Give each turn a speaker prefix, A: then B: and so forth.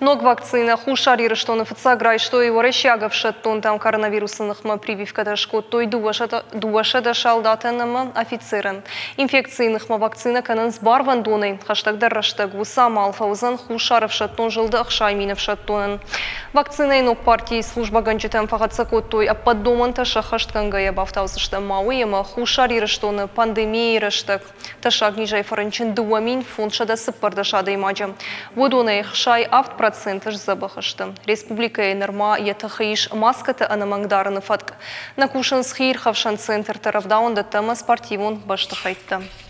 A: Ног вакцинӕ Хуссар Ирыстоны фыццаг райстой уӕрӕсейаг ӕфсӕддонтӕм. Коронавирусы ныхмӕ прививкӕтӕ скодтой 200 салдатӕн ӕмӕ офицерӕн. Инфекцийы ныхмӕ вакцинӕ кӕнынц барвӕндонӕй. Хӕстӕгдӕр рӕстӕг уыцы амал фӕуыдзӕн Хуссар ӕфсӕддон зылды 60 000 ӕфсӕддонӕн. Вакцинӕйы ног партийы службӕгӕнджытӕм фӕхӕццӕ кодтой ӕппӕт домӕнтӕ сӕххӕстгӕнгӕйӕ. Бафтаудзыстӕм ма уый, ӕмӕ Хуссар Ирыстоны пандемийӕйы рӕстӕг тӕссаг низӕй фӕрынчын 2514 адӕймаджы. Уыдонӕй 67% сдзӕбӕх сты. Республикӕйы нырма йӕ тыхы ис маскӕты ӕнӕмӕнг дарыны фӕтк. Нӕ кусынц хиирхӕфсӕн центртӕ, рӕвдауӕндӕттӕ ӕмӕ спортивон бӕстыхӕйттӕ.